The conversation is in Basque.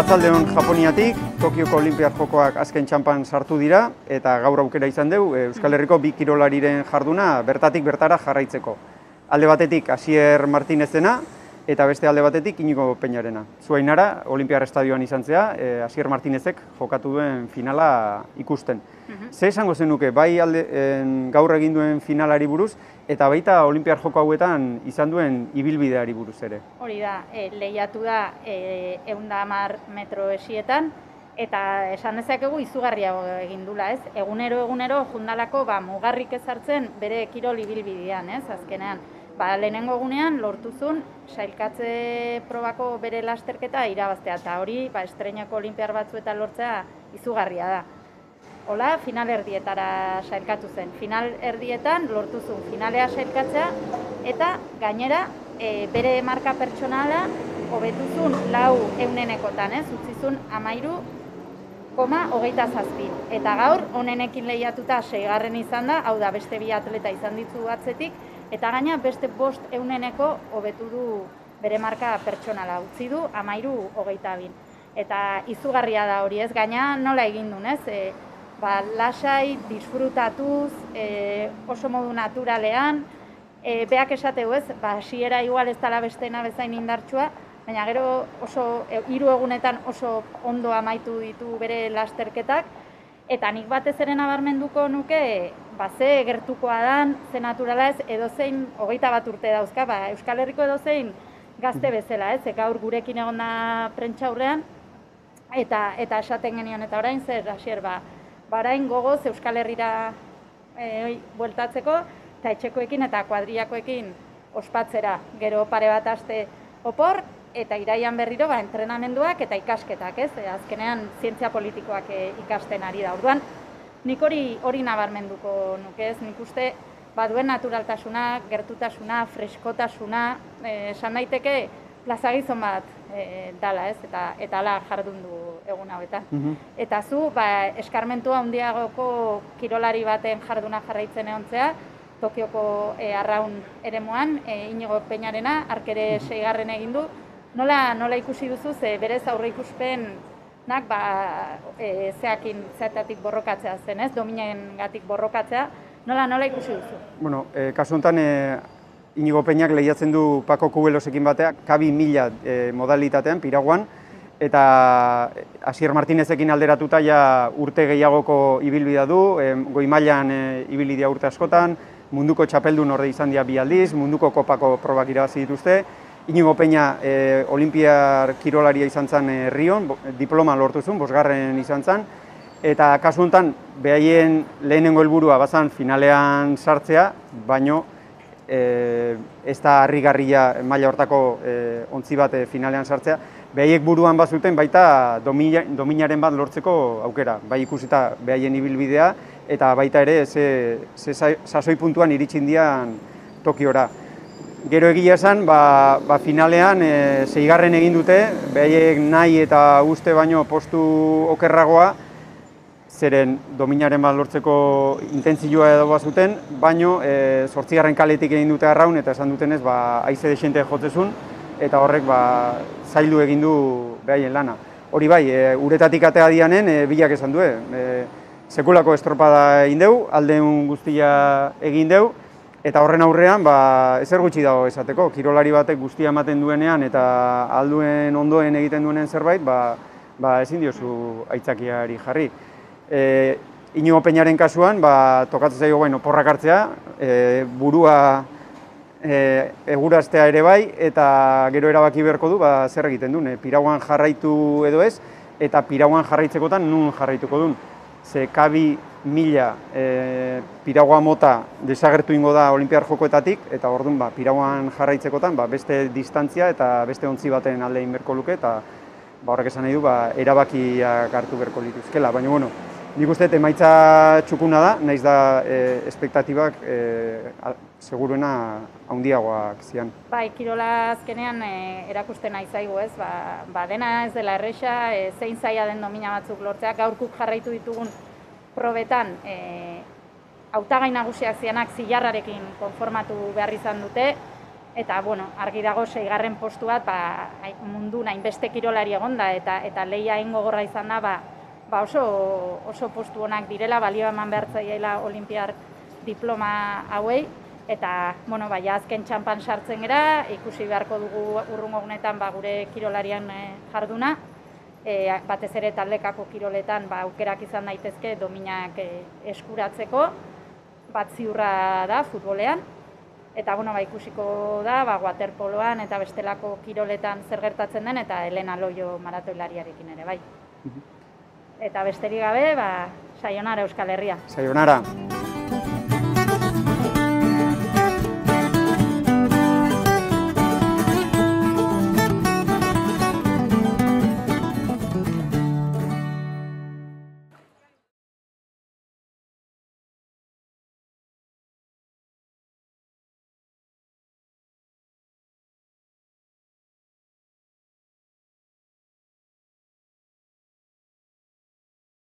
Arratsaldeon Japoniatik, Tokioko Olinpiar Jokoak azken txanpan sartu dira eta gaur aukera izan dugu Euskal Herriko bi kirolariren jarduna bertatik bertara jarraitzeko. Alde batetik Asier Martinezena eta beste alde batetik Iñigo Peñarena. Zuainara, Olinpiar Estadioan izan zea, Asier Martinezek jokatu duen finala ikusten. Ze esango zenuke, bai gaur egin duen finalari buruz, eta baita Olinpiar Joko hauetan izan duen ibilbideari buruz ere? Hori da, lehiatu da 110 metro esietan, eta esan dezakegu izugarriago egin dula, ez? Egunero jundalako mugarrik ezartzen bere kirol ibilbidean, ez? Azkenean, lehenengo egunean lortuzun sailkatze probako bere lasterketa irabaztea, eta hori estreinako olinpiar batzuetan lortzea izugarria da. Hola, final erdietara sailkatu zen. Final erdietan lortuzun finalea sailkatzea eta gainera bere marka pertsonala hobetuzun 4/100-ekotan, ez? Utzizun 13,27. Eta gaur onenekin lehiatuta 6. izan da, hau da beste bi atleta izan ditu atzetik, eta gaina beste 5/100-eko hobetu du bere marka pertsonala, utzi du 13,22. Eta izugarria da hori, ez? Gaina nola egin duen, ez? Lasai, disfrutatuz, oso modu naturalean, beak esateu ez, hasiera igual ez dela bestena bezain indartsua, baina gero oso 3 egunetan oso ondo amaitu ditu bere lasterketak, eta nik batez ere nabarmenduko nuke, ze gertukoa dan, ze naturala ez, edozein 21 urte dauzka, Euskal Herriko edozein gazte bezala, ez, gaur gurekin egon da prentsaurrean, eta esaten genion, eta orain zer, Asier, orain gogoz Euskal Herrira bueltatzeko, eta etxekoekin eta kuadriakoekin ospatzera. Gero pare bat aste opor, eta iraian berriro entrenamenduak eta ikasketak, ez? Azkenean zientzia politikoak ikasten ari da. Orduan, nik hori nabarmenduko nuke, ez? Nik uste baduen naturaltasuna, gertutasuna, freskotasuna, esan daiteke plazagizon bat dala, ez? Eta ala jardun du egun hauetan. Eta zu, eskarmentua handiagoko kirolari baten jarduna jarraitzen egontzea, Tokioko arraun eremuan, Iñigo Peñarena, arkere 6. egin du. Nola ikusi duzu, berez aurre ikuspenak zeatatik borrokatzea zen, ez? Dominaengatik borrokatzea. Nola ikusi duzu? Bueno, kasu honetan, Iñigo Peñak lehiatzen du Paco Cubelosekin bateak, kabi 1000 modalitatean, piraguan, eta Asier Martinezekin alderatuta ja urte gehiagoko ibilbidea du, goi mailan ibilbidea urte askotan, munduko txapeldun orde izan dira 2 aldiz, munduko kopako probak irabazi dituzte. Iñigo Peña olinpiar kirolaria izan zen Rion, diploma lortu zuen, 5. izan zen, eta kasu honetan behaien lehenengo helburua bazan finalean sartzea, baino ez da harrigarria maila hortako ontzi bat finalean sartzea, behaiek buruan bazuten baita dominaren bat lortzeko aukera, bai ikusita behaien ibilbidea, eta baita ere ze sasoi puntuan iritsin dian Tokiora. Gero egia esan, finalean 6. egin dute, behaiek nahi eta uste baino postu okerragoa, zeren dominaren bat lortzeko intentzioa edo bazuten, baino 8. kaletik egin dute arraun, eta esan dutenez, haize desente jotzezun, eta horrek zaildu egin du behaien lana. Hori bai, uretatik atea dianen, bilak esan du, sekulako estropada egin deu, aldeun guztia egin deu, eta horren aurrean, ezer gutxi dago esateko, kirolari batek guztia ematen duenean, eta alduen ondoen egiten duenen zerbait, ezin diozu aitzakiari jarri. Iñigo Peñaren kasuan, tokatzen zaio oporrak hartzea, burua eguraztea ere bai, eta gero erabaki beharko du, zer egiten duen, piraguan jarraitu edo ez, eta piraguan jarraitzekotan nun jarraituko duen. Ze kabi 1000 piragua mota desagertu ingo da olinpiar jokoetatik, eta orduan piraguan jarraitzekotan beste distantzia eta beste ontzi baten alde egin beharko luke, eta horrek esan nahi du erabakiak hartu beharko lituzkela. Baina, bueno, nik uste emaitza txukuna da, nahiz da espektatibak seguruena handiagoak zian. Kirola azkenean erakusten nahi zaigu, ez? Dena ez dela erresa, zein zaila den domina batzuk lortzea, gaurkuk jarraitu ditugun probetan hautagai nagusiak zianak zilarrarekin konformatu behar izan dute, Eta, bueno, argi dago 6. postu bat, mundu hainbeste kirolari egonda eta lehia hain gogorra izan da, oso postu honak direla, balio eman behar zaiela olimpiar diploma hauei, eta, bueno, azken txampan sartzen gera, ikusi beharko dugu urrungo egunetan gure kirolarian jarduna, batez ere taldekako kiroletan aukerak izan daitezke dominak eskuratzeko, bat ziurra da futbolean, eta ikusiko da waterpoloan eta bestelako kiroletan zer gertatzen den, eta Elena Loio maratoilariarekin ere, bai. Eta besterik gabe, sayonara Euskal Herria. Sayonara.